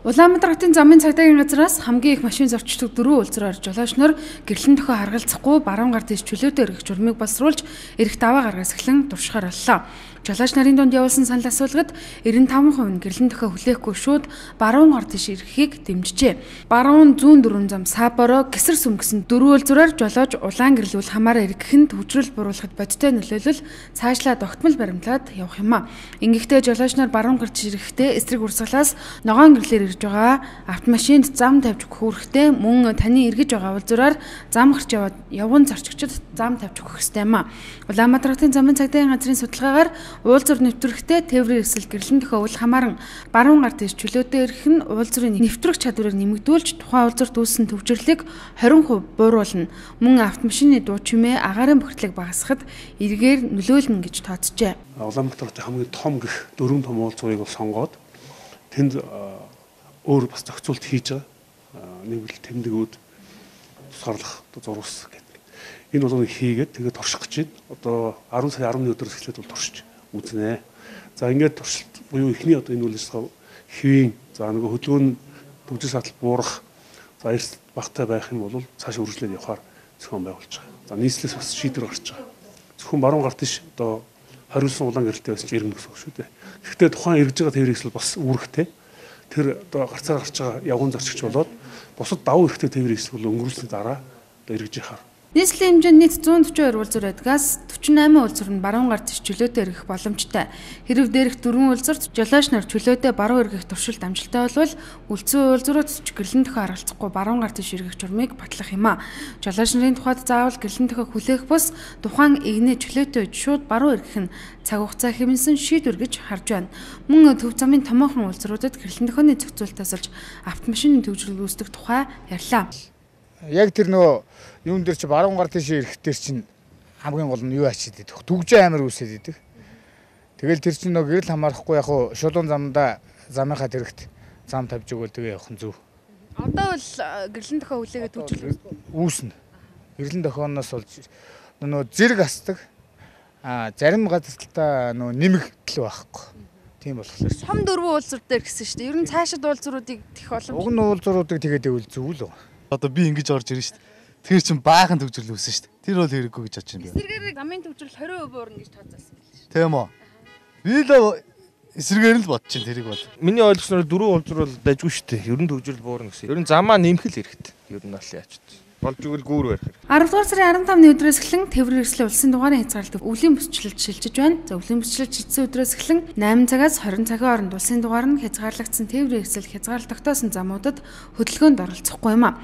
Улаанбаатар хотын замын цагдаагийн газраас хамгийн их машин зорчдог 4 улзраар жолоочноор гэрлэн төхөө харгалзахгүй баруун гар дэс чөлөөтэй эргэх журмыг боловсруулж эрэх даваа гаргаас эхлэн туршихаар боллоо. Жолооч нарын дунд явуулсан санал асуулгад 95% нь гэрлэн төхөө хүлээхгүй шууд баруун гар дэс эргэхийг дэмжижээ. Баруун зүүн дөрвөн зам Саапоро гисэр сүмгсэн 4 улзраар жолооч улаан гэрлүүл хамаараа эргэх нь төвчрөл буруулахад бодиттой нөлөөлөл цаашлаа тогтмол баримтлаад явах юм а. Ингэхдээ жолооч нар баруун гар дэс эрэхдээ эсрэг урсгалаас ногоон гэрлээр ирж байгаа автомашинд зам тавьж өгөхгүй мөн таны эргэж байгаа улзраар зам гарч яваад явган зарчигчид зам тавьж өгөх ёстой юм а. Улаанбаатар хотын замын цагдаагийн газрын судалгаагаар уулзар нэвтрэхдээ тээврийн эсрэг гэрлэн төхөө үл хамааран баруун гар дэс чөлөөтэй эргэх нь уулзрын нэвтрэх чадварыг нэмэгдүүлж тухайн уулзарт үүссэн төвчрлийг 20% бууруулна. Мөн автомашины дуу чимээ агаарын бохирдлыг багасгахад эргээр нөлөөлнө гэж тооцжээ. Улаанбаатар хотын хамгийн том гэх 4 том уулзрыг сонгоод тэнд өөр бас зохицуулт хийж байгаа. Нэг л тэмдгүүд тусгаарлах зурвас гэдэг. Энэ бол хийгээд тэгээд турших гэж байна. Одоо 10 сарын 11-ний өдрөөс эхлээд бол туршиж үзнэ. За ингээд туршилт буюу эхний одоо энэ үйл ажиллагаа хэвийн за нөгөө хөдөлгөөний төвчл сатал буурах за эрс багтай байх юм бол цааш үргэлжлээд явахаар зохион байгуулж байгаа. За нийслэлээс бас шийдвэр гарч байгаа. Зөвхөн баруун гарт ш одоо хариулсан улаан гэрэлтэй байсан чинь ирнэ гэсэн үг шүү дээ. Гэхдээ тухайн эргэж байгаа тээврээс бол бас үүрэгтэй. Тэр одоо гарцаар гарч байгаа явган зорчигч болоод бусад давуу эрхтэй тээврээс бол өнгөрүүлсний дараа одоо эргэж яхаар. Нийслэлийн хэмжээнд нийт 142 улзар байдгаас 48 улзар нь баруун гар дэс чөлөөтэй эргэх боломжтой. Хэрв дээрх 4 улзарт жолооч нар чөлөөтэй баруун эргэх туршилт амжилттай болвол үлдсэн улзрууд ч гэрлэн төхөө харгалзахгүй баруун гар дэс эргэх журмыг батлах юм а. Жолооч нарын тухайд заавал гэрлэн төхөө хүлээх бус тухайн игнээ чөлөөтэй шууд баруун эргэх нь цаг хугацаа хэмнэсэн шийдвэр гэж харж байна. Мөн төв замын томоохон улзруудад гэрлэн төхөөний зохицуултаас олж автомашины төвжрэл үүсдэг тухай ярьлаа. Яг тэр нөгөө юун дээр чи баруун гар дэс эргэх дээр чинь хамгийн гол нь юу ачиж идэх түгжээ амир үүсээд идэх. Тэгэл тэр чинь нөгөө гэрэл хамаарахгүй яг хуу шулуун замдаа замынхаа тэрэгт зам тавьж өгөөл тэгээ явах нь зөв. Одоо бол гэрлэн төхөө хүлээгээд төвжрэл үүснэ. Гэрлэн төхөөноос болж нөгөө зэрэг асдаг. Зарим газартаа нөгөө нэмэгдэл байхгүй. Тийм болохоор том 4 улзар дээр гэсэн шүү дээ. Ер нь цаашид улзруудыг тэх боломж. Уг нь улзруудыг тэгээд ивэл зөв л. Одоо би ингэж орж ирнэ шүү дээ. Тэр чинь баахан төвжрэл үүсэн шүү дээ. Тэр бол хэрэггүй гэж бодож байна. Эсрэгээр замын төвжрэл 20% буурна гэж тооцоолсон байл шүү. Тийм үү. Би л эсрэгээр л бодож байна тэрийг бол. Миний ойлгосноор 4 улзар бол дайггүй шүү дээ. Ер нь төвжрэл буурна гэсэн. Ер нь замаа нэмэх л хэрэгтэй. Ер нь бол яач. Болж игэл гүүр барих хэрэгтэй. 10 дугаар сарын 15-ны өдрөөс эхлэн тээврийн эрслийн улсын дугаарын хязгаарлалт өвлийн бүсчлэлд шилжиж байна. За өвлийн бүсчлэлд шилжсэн өдрөөс эхлэн 8 цагаас 20 цагийн хооронд улсын дугаар нь хязгаарлагдсан тээврийн эрсэл хязгаарлалт тогтоосон замуудад хөдөлгөөнд оролцохгүй юм а.